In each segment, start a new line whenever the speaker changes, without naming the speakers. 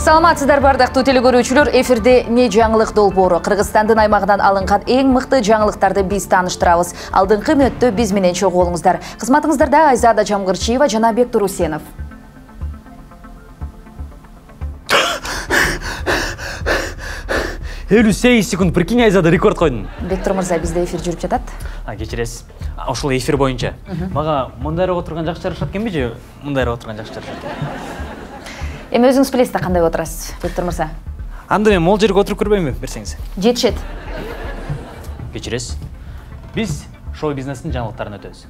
Саламатсыздар бардактуу телекөрүүчүлөр, эфирде не жаңылык долбоору. Кыргызстандын аймагынан алынган эң мыкты жаңылыктарды биз тааныштырабыз. Алдыңкы мүнөттө биз менен чогуу болуңуздар. Кызматыңыздарда Айзада Жамгырчиева жана Бектур Усенов.
58 секунд, прикинь, Айзада рекорд койдун.
Бектур мырза, бизде эфир жүрүп жатат.
Кечиресиз. Ошол эфир боюнча. Мага мындайраак отурган жакшы жарашат экенби же мындайраак отурган жакшы жарашат?
Эми өзүңүз билесиз да кандай отурасыз, Бектур мырза.
Анда мен могул жерге отуруп көрбөймүн, берсеңиз.
Жетишет.
Кечиресиз. Биз шоу-бизнестин жаңылыктарын өтөбүз.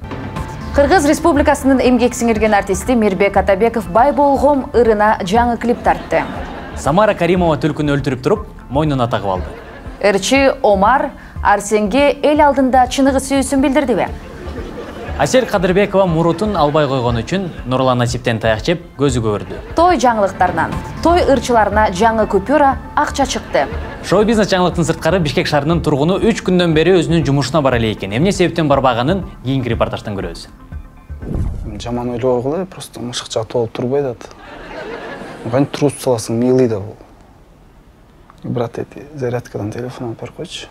Кыргыз Республикасынын эмгек сиңирген артисти Мирбек Атабеков бай болгом ырына жаңы клип тартты.
Самара Каримова түлкүнү өлтүрүп туруп, мойнуна тагып алды.
Ырчы Омар Арсенге эл алдында чыныгы сүйүүсүн билдирдиби?
Асел Кадырбекова мурутун албай койгон үчүн Нурлан Насиптен таяк жеп көзү көрдү.
Той жаңылыктарынан той ырчыларына жаңы купюра акча чыкты.
Шоу-бизнес жаңылыктын сырткары Бишкек шаарынын тургуну 3 күндөн бери өзүнүн жумушуна бара эле экен. Эмне себептен барбаганын кийинки репортаждан көрөбүз.
Жаман ойлогула, просто мышыкча толуп турбайт ат. Кантип туруп саласың, милый да бул. Брат, зарядкадан телефон алып берип койчу.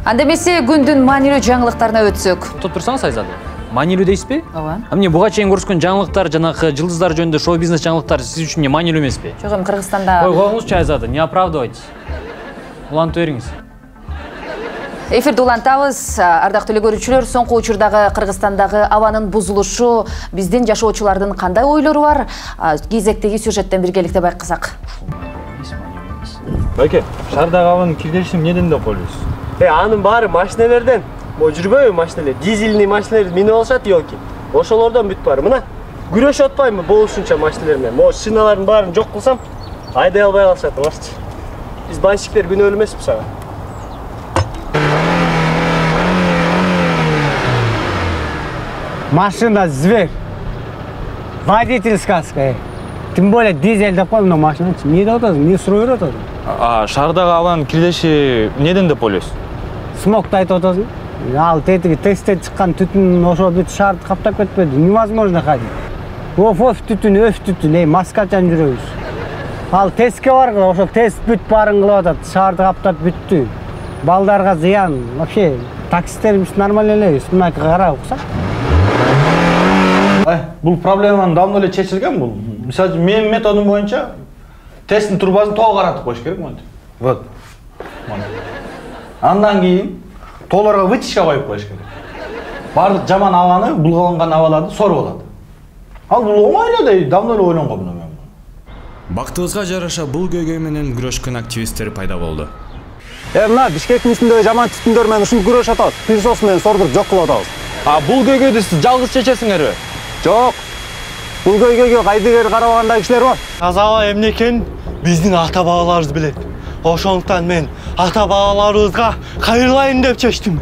Анда эмесе күндүн маанилүү жаңылыктарына өтсөк.
Топ турсаңыз Айзада. Маанилүү дейсизби?
Ооба.
Эмне буга чейин көрүскөн жаңылыктар, жанагы жылдыздар жөнүндө шоу-бизнес жаңылыктар сиз үчүн маанилүү эмеспи?
Жок, эми Кыргызстанда.
Ой, коюңузчу Айзада, не оправдывайтесь. Улантып бериңиз.
Эфирди улантабыз. Ардактуу телекөрүүчүлөр, соңку учурдагы Кыргызстандагы абанын бузулушу биздин жашоочулардын кандай ойлору бар? Кезектеги сюжеттен биргеликте байкасак.
Байке, шаардагы абанын кирдешин эмнеден деп ойлойсуз?
Анын баары машинелерден. Жүрбөйбү машинелер, дизельный машинелер минип алышат елки. Ошолордон бүт баары. Мына күрөшүп атпайбы болушунча машинелер менен. Могу шиналардын баарын жок кылсам, айдай албай калышат, алачы. Биз банщиктер күнөөлүү эмеспиз ага.
Машина зверь. Водительская. Тем более дизель деп койм, машина. Эмне деп атасың? Эмне суроо берип атасың?
Шаардагы абанын кирдеши эмнеден деп ойлойсуз?
Смогду айтып атасың. Ал тетиги тесттен чыккан түтүн ошо бүт шаарды каптап кетпеди. Невозможно ходить. Оф түтүн, маскачан жүрөбүз. Ал тестке баргыла, ошол тест бүт баарын кылып атат. Шаарды каптап бүттү. Балдарга зыян. Вообще таксисттерибиз нормально эле. Мына карап уксак.
Бул проблеманын давно эле чечилген бул. Мисалы, менин методум боюнча тесттин турбасын тоо каратып коюш керек монтип. Вот. Андан кийин тоолорго вытяжка коюп коюш керек. Бардык жаман абаны, булганган абаларды соруп алат. Ал бул оңой эле, давно эле ойлонгом мен.
Бактыбызга жараша бул көйгөй менен күрөшкөн активисттер пайда болду.
Мына Бишкектин үстүндөгү жаман түтүндөр менен ушинтип күрөшүп атабыз. Пылесос менен сордуп жок кылып атабыз.
Бул көйгөйдү сиз жалгыз чечесиңерби?
Жок. Бул көйгөйгө кайдыгер карабагандай кишилер бар.
Таза эмне экенин биздин ата бабаларыбыз билет. Ошондуктан мен ата бабаларыбызга кайрылайын деп чечтим.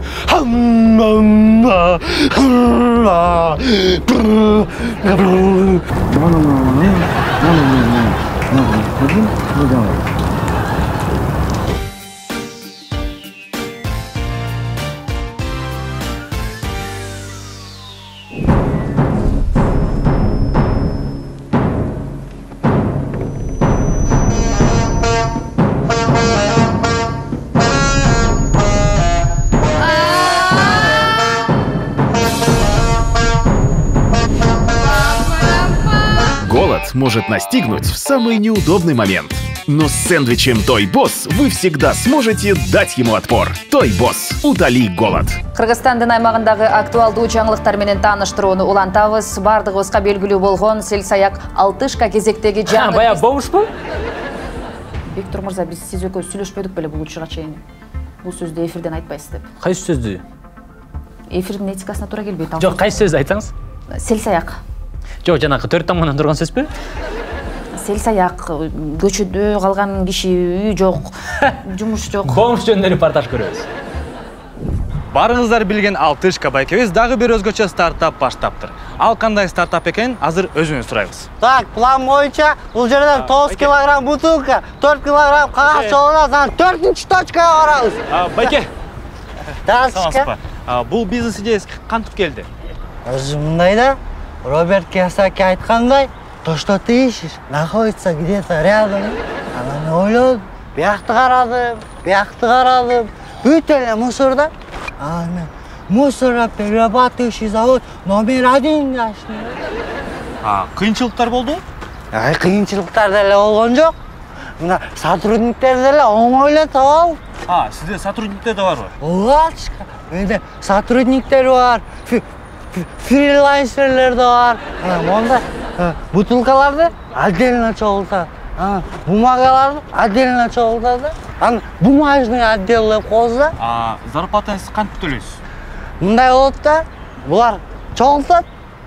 Может настигнуть в самый неудобный момент. Но с сэндвичем Toy Boss вы всегда сможете дать ему отпор. Toy Boss. Утоли голод.
Кыргызстандын аймагындагы актуалдуу жаңылыктар менен тааныштырууну улантабыз. Бардыгыбызга белгилүү болгон селсаяк алтышка кезектеги жаңы.
Бая бомушпу?
Бектур мырза, биз сиз экөөбүз сүйлөшпөдүк беле бул учурга чейин. Бул сөздү эфирден айтпайсыз деп.
Кайсы сөздү?
Эфирдин этикасына туура келбейт.
Жок, кайсы сөздү айтсаңыз?
Селсаяк.
Жок, жанагы 4 тамгандан турган сөзбү?
Селсаяк, көчөдө калган киши, үй жок, жумуш жок.
Бомуш жөнүндө репортаж көрөбүз.
Барыңыздар билген Алтышка байкебиз дагы бир өзгөчө стартап баштаптыр. Ал кандай стартап экенин азыр өзүнөн сурайбыз.
Так, план боюнча бул жерден 9 килограмм бутылка, 4 килограмм кагаз чогулат, анан 4-чү точкага барабыз.
Байке.
Саламатсызбы?
Бул бизнес идеясы кантип келди?
Өзү мындай да, Роберт Кийосаки айткандай,
то, что ты ищешь, находится где-то рядом. Анан ойлодум, биякты карадым. Бүт эле мусорда. Анан мусороперерабатывающий завод №1 ачтым.
Кыйынчылыктар болду?
Кыйынчылыктар деле болгон жок. Мына сотрудниктер деле оңойло таап алып.
Сизде сотрудниктер да барбы?
Ооба, менде сотрудниктер бар, фрилансерлер да бар. Монда бутылкаларды отдельно чогултат. Бумагаларды отдельно чогултат. Аны бумажный отдел деп коебуз да.
Зарплатаңызды кантип төлөйсүз?
Мындай болот да, булар чогултат,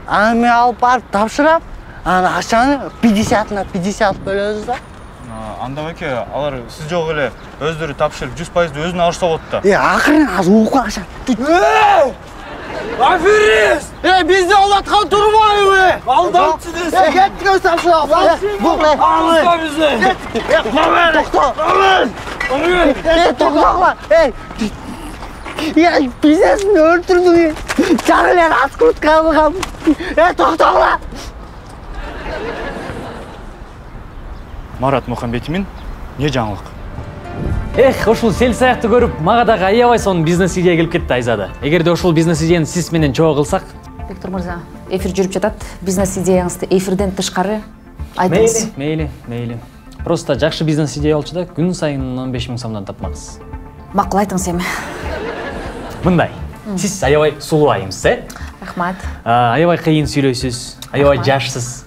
аны мен алып барып тапшырам. Аны акчаны 50/50 бөлөбүз да.
Анда беке, алар сиз жок эле өздөрү тапшырып 100% өзүнө алышса болот да.
Акырын аз угуп калышат.
Аферист! Бизде олаткан турбайбы? Алдамчы десең.
Кеттик өз тапшырам.
Алыста бизде.
Токла. Бизнесин өлтүрдүң. Жаңылар аскуртка алгам. Токтогула.
Марат Мухамбетимин, не жаңылык?
Ушул сел саякты көрүп, мага дагы аябай сонун бизнес идея келип кетти Айзада. Эгерде ушул бизнес идеяны сиз менен чогуу кылсак?
Виктор мырза, эфир жүрүп жатат. Бизнес идеяңызды эфирден тышкары айтыңыз.
Мейли. Просто жакшы бизнес идея болчу да, күн сайын 15 000 сомдон тапмаксыз.
Макул, айтыңыз эми.
Мындай. Сиз аябай сулуу айымсыз,
Рахмат.
Аябай кыйын сүйлөйсүз, аябай жашсыз.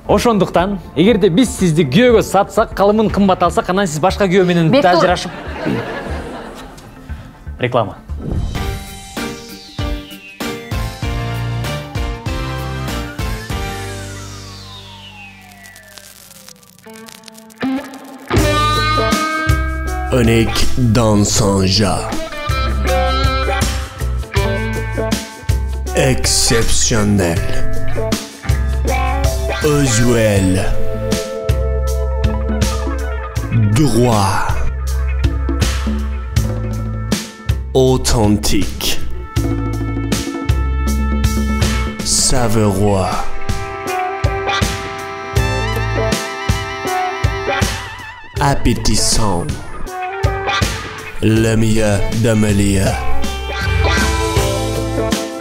Ошондуктан, эгерде биз сизди күйөөгө сатсак, калымын кымбат алсак, анан сиз башка күйөө менен ажырашып. Реклама.
Örnek dansanja. Exceptionnel. Usuel. Droit. Authentique. Savoureux. Appétissant. Le meilleur de meilleur.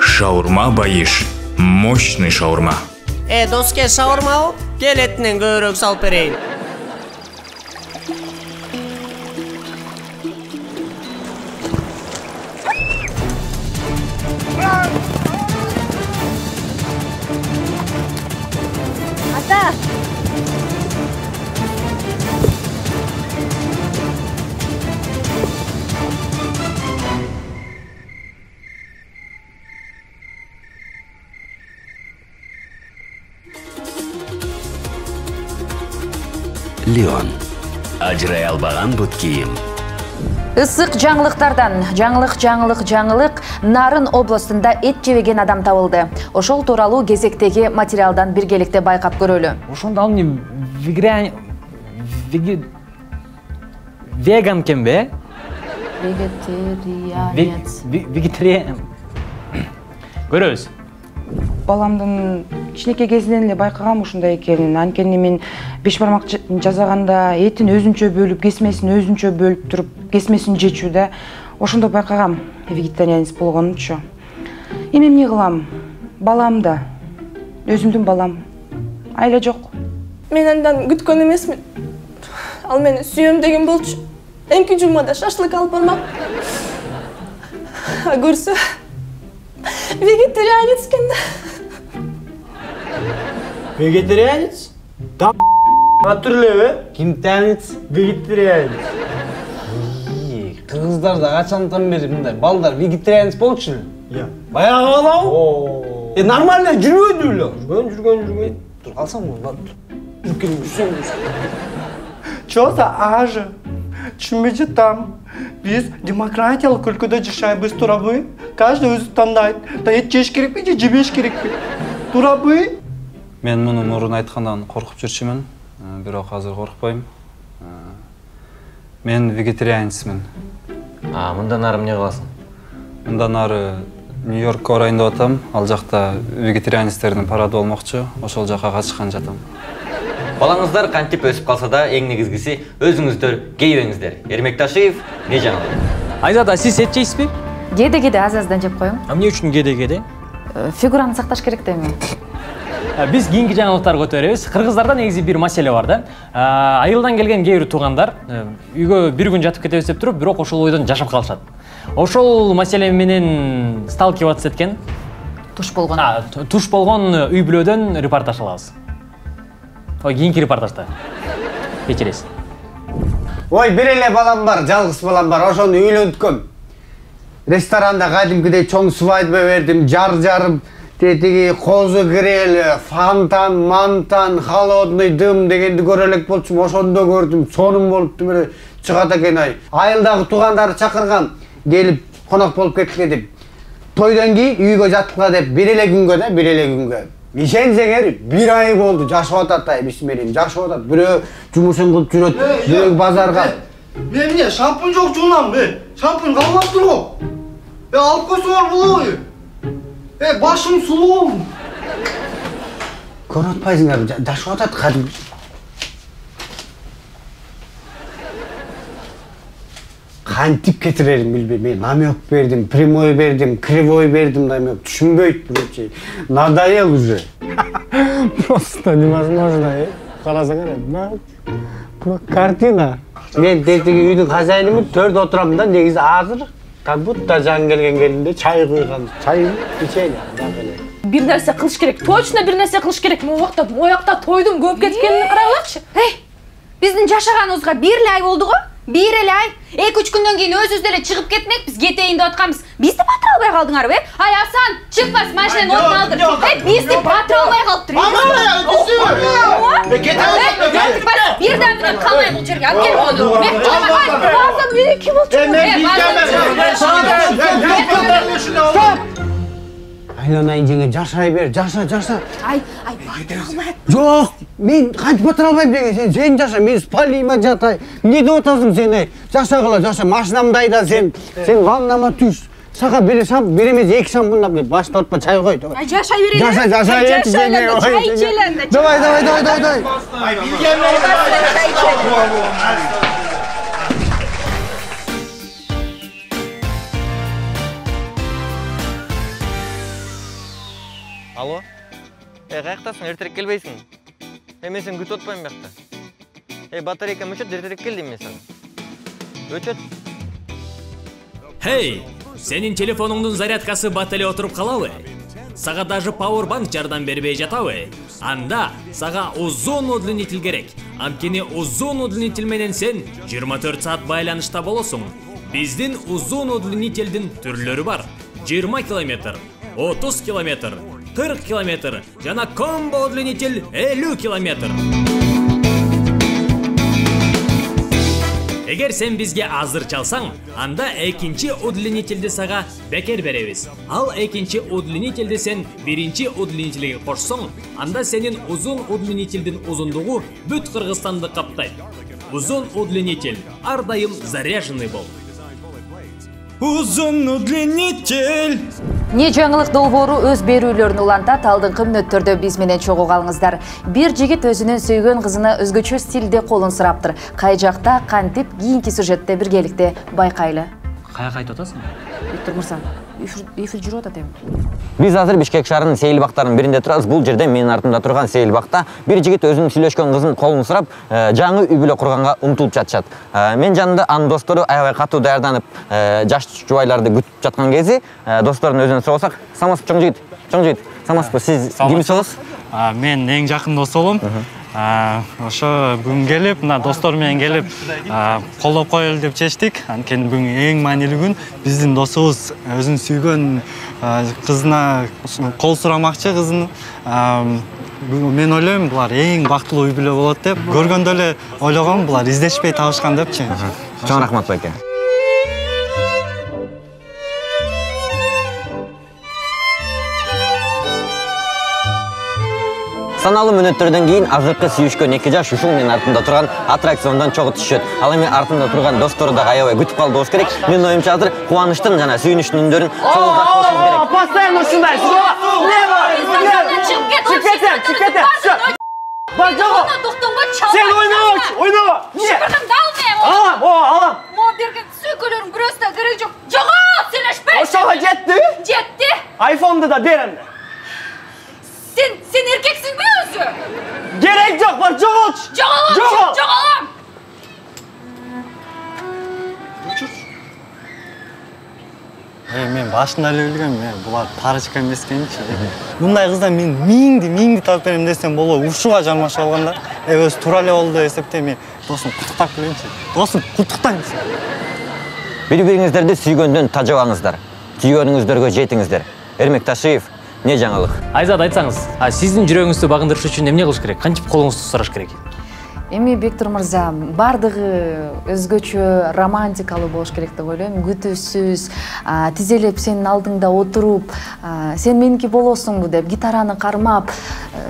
Шаурма Баиш. Мощный шаурма.
Доске шаурма, кел этинен көбүрөөк салып берейин.
Ата!
Леон. Ажырай албаган бут кийим.
Ысык жаңылыктардан жаңылык Нарын областында эт жебеген адам табылды. Ошол тууралуу кезектеги материалдан биргеликте байкап көрөлү.
Ошондо ал эмне веган кембе? Вегетарианец. Көрөбүз.
Баламдын кичинекей кезинен эле байкагам ушундай экенин. Анткени мен беш бармак жасаганда этин өзүнчө бөлүп, кесмесин өзүнчө бөлүп туруп, кесмесин жечүүдө ошондо байкагам вегетарианец болгонучу. Эми эмне кылам? Балам да, өзүмдүн балам. Айла жок.
Мен андан күткөн эмесмин. Ал мени сүйөм деген болчу. Эмки жумада шашлык алып бармак. Көрсө вегетарианец экен да.
Вегетарианец? Да атырлебе? Кимтанец? Вегетарианец.
Кыргыздарда качандан бери мындай балдар вегетарианец болчу эле?
Баягы балабы?
Нормально жүрбөдү эле.
Жүргөн.
Тур калсаңбы? Жүрсөң.
Чоса ажы. Түшүнбөй жатам. Биз демократиялык өлкөдө жашайбыз, туурабы? Каждый өзү тандайт. Эт жеш керекпи же жебеш керекпи? Туурабы?
Мен муну мурун айткандан коркуп жүрчүмүн, бирок азыр коркпойм. Мен вегетарианецмин.
Мындан ары эмне кыласың?
Мындан ары Нью-Йоркко барайын деп атам. Ал жакта вегетарианецтердин парады болмокчу. Ошол жака катышкан жатам.
Балаңыздар кантип өсүп калса да, эң негизгиси өзүңүздөр кейбеңиздер. Эрмекташиев, не жаңылык?
Айзада, сиз эт жейсизби?
Кеде аз-аздан жеп коюң.
Эмне үчүн кеде?
Фигураны сакташ керек да эми.
Биз кийинки жаңылыктар көтөрөбүз. Кыргыздарда негизи бир маселе бар да. Айылдан келген кээ бир туугандар үйгө бир күн жатып кетебиз деп туруп, бирок ошол ойдон жашап калышат. Ошол маселе менен сталкиваться эткен
туш болгон
үй бүлөдөн репортаж алабыз. Кийинки репортажда кечиресиз.
Ой, бир эле балам бар, жалгыз балам бар. Ошону үйлөнткөм. Ресторанда кадимкидей чоң свадьба бердим, жарып, тетиги козу гриль, фонтан, мантан, холодный дым дегенди көрө элек болчумун. Ошондо көрдүм, сонун болупту эле чыгат экен ай. Айылдагы туугандары чакырган, келип конок болуп кеткиле деп. Тойдон кийин үйгө жаткыла деп бир эле күнгө. Ишенсеңер, бир ай болду, жашап атат ай, бисмилlah, жашап атат. Бирөө жумушун кылып жүрөт, бирөө базарга.
Мен эмне шампунь жок жуунам, шампунь калмаптыр го. Алып койсоңор болобу? Башым сулуу.
Көрүп атпайсыңарбы, жашап атат кадим. Кантип кетирерин билбейм. Мен намек бердим, прямой бердим, кривой бердим, намек түшүнбөйт бирочи. Надоел уже. Просто невозможно. Карасаңар, картина. Мен тетиги үйдүн хозяйнымын, төрдө отурам да, негизи азыр как будто жаңы келген келинде чай куйган. Чай ичейин.
Бир нерсе кылыш керек. Точно бир нерсе кылыш керек. Моякта тойдун көп кеткенин карагылачы.
Биздин жашаганыбызга бир эле ай болду го? Бир эле ай. 2-3 күндөн кийин өзүбүз деле чыгып кетмекпиз, кетейин деп атканбыз. Бизди батыра албай калдыңарбы? Ай Асан, чык бас, машинанын отун алдыр. Бизди батыра албай калыптыр. Бирден мүнөт калмай бул жерге алып келип коду. Асан, мен ким болчумун?
Айланайын жеңе, жашай бер, жаша.
Ай, батыра албайт.
Жок, мен кантип батыра албайм деген, сен жаша, мен спалима жатай. Эмне деп атасың сен, ай? Жаша, машинамды айда, сен ваннама түш. Сага бир эмес 2 шампунь деп башта отпа чай кой.
Ай, жашай берейин.
Жаша,
чай ичелен.
Давай.
Ай, чай ичелен.
Алло? Каяктасың, эртерээк келбейсиң? Мен сени күтүп атпайм бакта. Батарейкам өчөт, эртерээк кел дейм мен сага. Өчөт.
Хей, сенин телефонуңдун зарядкасы бат эле отуруп калабы? Сага даже Powerbank жардам бербей жатабы? Анда сага узун удлинитель керек. Анткени узун удлинитель менен сен 24 саат байланышта болосуң. Биздин узун удлинительдин түрлөрү бар. 20 километр, 30 километр, 40 километр жана комбо удлинитель 50 километр. Эгер сен бизге азыр чалсаң, анда экинчи удлинительди сага бекер беребиз. Ал экинчи удлинительди сен биринчи удлинительге кошсоң, анда сенин узун удлинительдин узундугу бүт Кыргызстанды каптайт. Узун удлинитель, ар дайым заряженный бол.
Узун удлинитель.
Не жаңылык долбоору өз берүүлөрүн улантат. Алдыңкы мүнөттөрдө биз менен чогуу калыңыздар. Бир жигит өзүнүн сүйгөн кызына өзгөчө стилде колун сураптыр. Кай жакта, кантип, кийинки сюжетте биргеликте байкайлы.
Каяка айтып атасың?
Виктор Мырза, эфир жүрүп атат эми.
Биз азыр Бишкек шаарынын сейилбактарынын биринде турабыз. Бул жерде менин артымда турган сейилбакта бир жигит өзүнүн сүйлөшкөн кызынын колун сурап, жаңы үй бүлө курганга умтулуп жатышат. Мен жанымда анын достору аябай катуу даярданып, жаш жубайларды күтүп жаткан кези, достордун өзүнөн сурасак, Самас чоң жигит. Самас, сиз кимсиз?
Мен эң жакын досугум. Ошо бүгүн келип, мына достор менен келип, колдоп коелу деп чечтик. Анткени бүгүн эң маанилүү күн. Биздин досубуз өзүнүн сүйгөн кызына кол сурамакчы кызын. Мен ойлойм, булар эң бактылуу үй бүлө болот деп. Көргөндө эле ойлогом, булар издешпей табышкан депчи.
Чоң рахмат байке. Саналуу мүнөттөрдөн кийин азыркы сүйүшкөн эки жаш ушул менин артымда турган аттракциондон чогуу түшөт. Ал эми артында турган достору да аябай күтүп калды болуш керек. Менин оюмча азыр кубанычтын жана сүйүнүчтүн үндөрүн чогултуп коюшубуз керек.
Постоянно ушундай. Чыгып кетем. Бар жого. Сен ойнама.
Шыпырдыңды алмайм.
Алам.
Мо берген сөйкөлөрүң бирөөсү да керек жок. Жого, сүйлөшпөй.
Ошого жетти?
Жетти.
Айфонду да берем.
Sen erkeksin mi özü?
Gerek yok var, jogoç.
Jogolam.
Мен башында эле билгем, булар парочка эмес экенчи. Мындай кыздар мен миңди тап берем десем болобу, ушуга жармашып алганда, өзү туура эле болду деп эсептейм. Мен досум куттуктап келейинчи. Досум куттуктайм.
Бири-бириңиздерди сүйгөндөн тажабаңыздар. Сүйгөнүңүздөргө жетиңиздер. Эрмек Ташиев, эмне жаңылык?
Айзат, айтсаңыз, сиздин жүрөгүңүздү багындырыш үчүн эмне кылыш керек? Кантип колуңузду сураш керек?
Эми Бектур мырза, бардыгы өзгөчө романтикалуу болуш керек деп ойлойм. Күтүүсүз, тизелеп сенин алдыңда отуруп, сен меники болосуңбу деп гитараны кармап,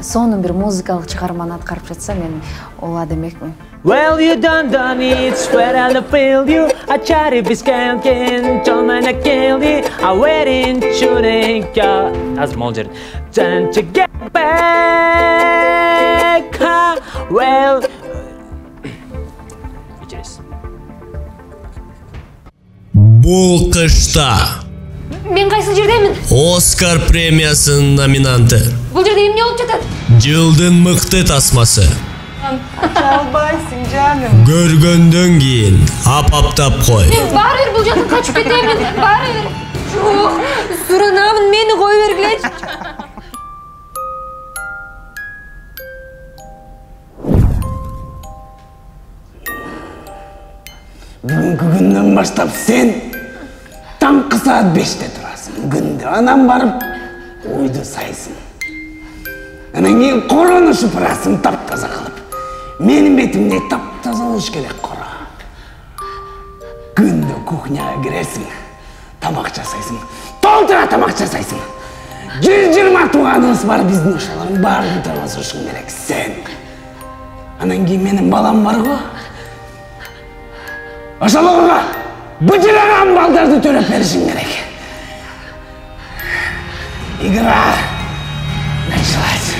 сонун бир музыкалык чыгарманы аткарып жатса, мен ооба демекмин.
Well, you done it, swear I'll feel you. I try to be skanking, don't mind I kill you. I wait in shooting,
Азыр мол жерин.
Time to get back, well.
Бул кышта
Мен кайсы жердемин?
Оскар премиясынын номинанты.
Бул жерде эмне болуп жатат?
Жылдын мыкты тасмасы.
Чалбайсың жаным.
Көргөндөн кийин апаптап кой.
Мен баары бир бул жактан качып кетемин. Баары бир. Жок, суранамын, мени кой бергилечи.
Бүгүнкү күндөн баштап сен таңкы саат 5-те турасың. Күндө анан барып ойду сайсың. Анан кийин корону шыпырасың таптаза кылып. Менин бетимдей таптаза болуш керек кора. Күндө кухняга киресиң, тамак жасайсың. Толтура тамак жасайсың. 120 тууганыбыз бар биздин ошолордун баарын тургузушуң керек сен. Анан кийин менин балам бар го. Ошолорго быжыраган балдарды төрөп беришиң керек. Игра началась.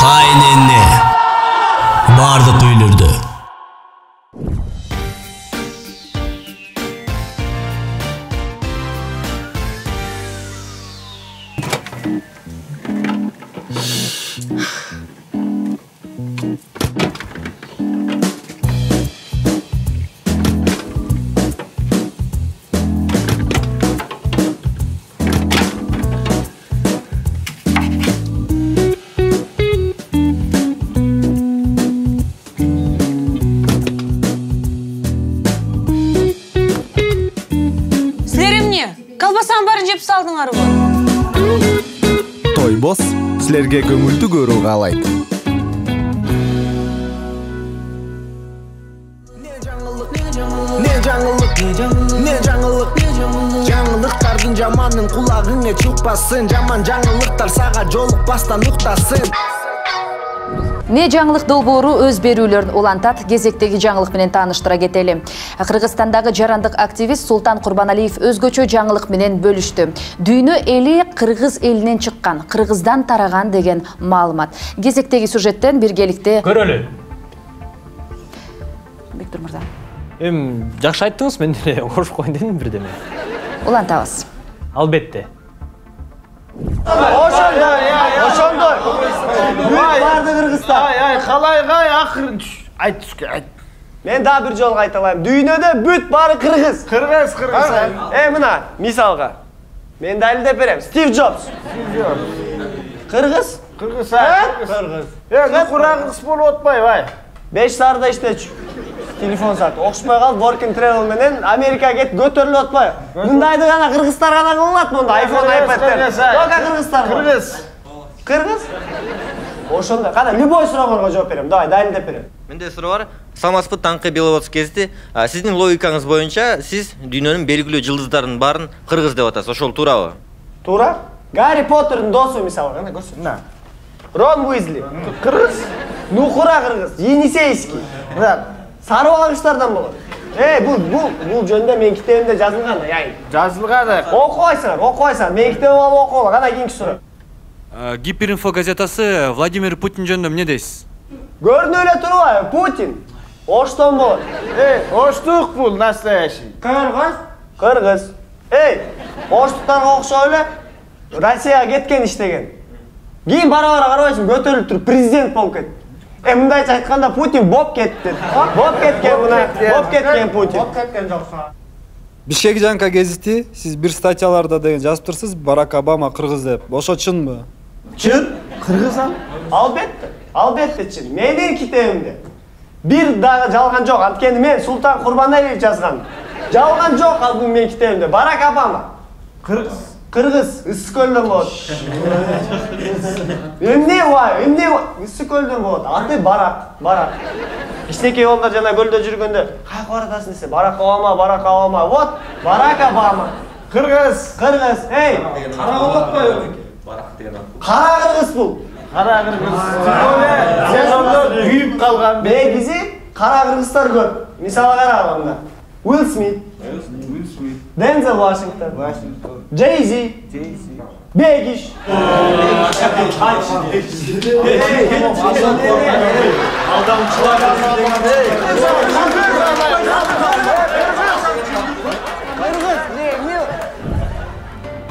Кайнене бардык үйлөрдө.
Той босс силерге көңүлдүү көрүү каалайт.
Жаңылыктардын жаманын кулагыңа чукпасын, жаман жаңылыктар сага жолукпастан уктасын.
Не жаңылык долбоору өз берүүлөрүн улантат. Кезектеги жаңылык менен тааныштыра кетели. Кыргызстандагы жарандык активист Султан Курбаналиев өзгөчө жаңылык менен бөлүштү. Дүйнө эли кыргыз элинен чыккан, кыргыздан тараган деген маалымат. Кезектеги сюжеттен биргеликте
көрөлү.
Бектур мырза.
Жакшы айттыңыз, мен деле кошуп коеюн дедим бирдеме.
Улантабыз.
Албетте.
Ошондой. Барды Кыргызстан. Калайгай акырын айт түшкө айт. Мен да бир жолу айта алайм. Дүйнөдө бүт баары кыргыз. Кыргыз. Мына мисалга. Мен да деп берем. Стив Джобс. Кыргыз. Кыргыз. Кыргыз болуп атпайбы? 5 саарда иштечү. Телефон саат окшмой калып, work and travel менен Америкага кетип көтөрүлүп атпайбы? Мындайды гана кыргыздар гана кылат монда, iPhone, iPad'тер. Тока кыргыздар. Кыргыз. Ошондой. Кана любой суроого жооп берем. Давай, дайындап берем.
Менде суроо бар. Самаспыт таңкы Беловодск кезди. Сиздин логикаңыз боюнча сиз дүйнөнүн белгилүү жылдыздарын баарын кыргыз деп атасыз. Ошол туурабы?
Туура. Гарри Поттердин досу мисалы, кана көрсөт. На. Рон Уизли. Кыргыз. Нухура кыргыз. Енисейский. Сары багыштардан болот. Бул жөнүндө менин китебимде жазылган да, яй.
Жазылган.
Окубайсыңар. Менин китебим алып окугула. Кана кийинки суроо.
Гиперинфо газетасы Владимир Путин жөнүндө эмне дейсиз?
Көрүнүп эле турбайбы? Путин. Оштон болот.
Оштук бул настоящий.
Кыргыз. Оштуктарга окшоп эле Россияга кеткен иштеген. Кийин бара-бара карабайсың, көтөрүлүп туруп президент болуп кетти. Мындайча айтканда Путин боп кетти. Боп кеткен мына. Боп кеткен Путин. Боп кеткен жокса.
Бишкек жанка гезити сиз бир статьяларда деген жазып турсуз, Барак Обама кыргыз деп. Ошо чынбы?
Чын? Кыргызам? Албетте чын. Менин китебимде бир дагы жалган жок. Анткени мен Султан Курбаналиев жазган. Жалган жок ал бул менин китебимде. Барак Обама. Кыргыз, Ысык көлдөн болот. Эмне Ысык көлдөн болот. Аты Барак. Кичинекей балдар жана көлдө жүргөндө кайка баратасың десе, Барак Обама. Вот, Барак Обама. Кыргыз. Эй, кара болотпойбу? Кара кыргыз бул.
Кара кыргыз. Сен ондо күйүп калган.
Бизи кара кыргыздар көп. Мисалы караганда. Уилл Смит. Дензел Вашингтон. Jay-Z. Бегиш.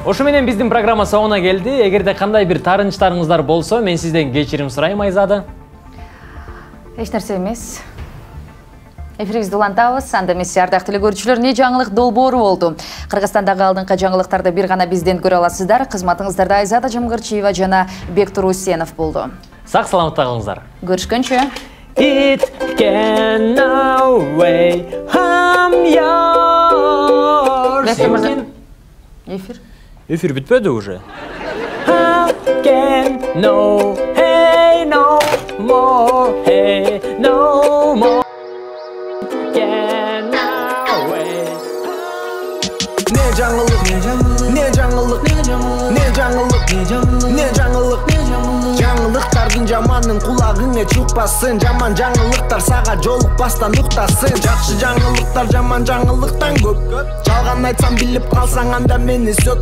Ошо менен биздин программа соңуна келди. Эгерде кандай бир таарынычтарыңыздар болсо, мен сизден кечирим сурайм, Айзада.
Эч нерсе эмес. Эфирибизди улантабыз. Анда эмес, ардактуу көрүүчүлөр, эмне жаңылык долбоору болду. Кыргызстандагы алдыңкы жаңылыктарды бир гана бизден көрө аласыздар. Кызматыңыздарда Айзада Жамгырчиева жана Бектур Усенов болду.
Сак саламатта калыңыздар.
Көрүшкөнчө.
It can away I'm yours.
Эфир бүтпөдү уже.
How can no hey no more hey no more.
Жаңылыктардын жаманын кулагыңа чукпасын. Жаман жаңылыктар сага жолукпастан уктасын. Жакшы жаңылыктар жаман жаңылыктан көп. Жалган айтсам билип калсаң анда мени сөк.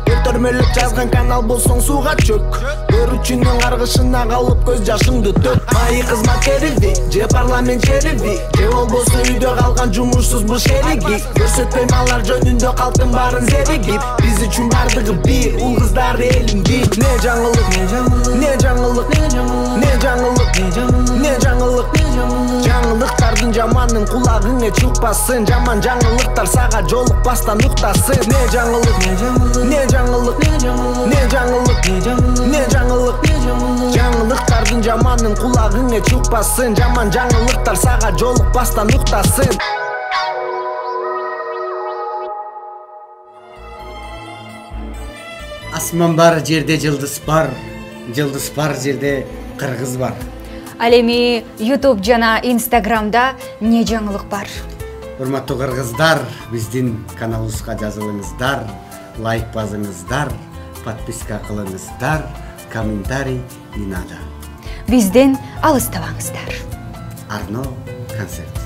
Көтөрмөлөп жазган канал болсоң сууга чөк. Көрүүчүнүн каргышына калып көз жашыңды төк. Майы кызмат кериби, же парламент шериби, же болбосо үйдө калган жумушсуз бул шериги. Көрсөтпөйм алар жөнүндө калктын баарын зеригип. Биз үчүн бардыгы бир, ул кыздар элим бир. Не жаңылык, жаңылыктардын жаманын кулагыңа чукпасын. Жаман жаңылыктар сага жолукпастан уктасын. Не жаңылык, жаңылыктардын жаманын кулагыңа чукпасын. Жаман жаңылыктар сага жолукпастан уктасын.
Асман бар жерде жылдыз бар жерде кыргыз бар.
Ал эми YouTube жана Instagramда эмне жаңылык бар?
Урматтуу кыргыздар, биздин каналыбызга жазылыңыздар, лайк басыңыздар, подписка кылыңыздар, комментарий не надо.
Бизден алыстабаңыздар.
Арно концерт.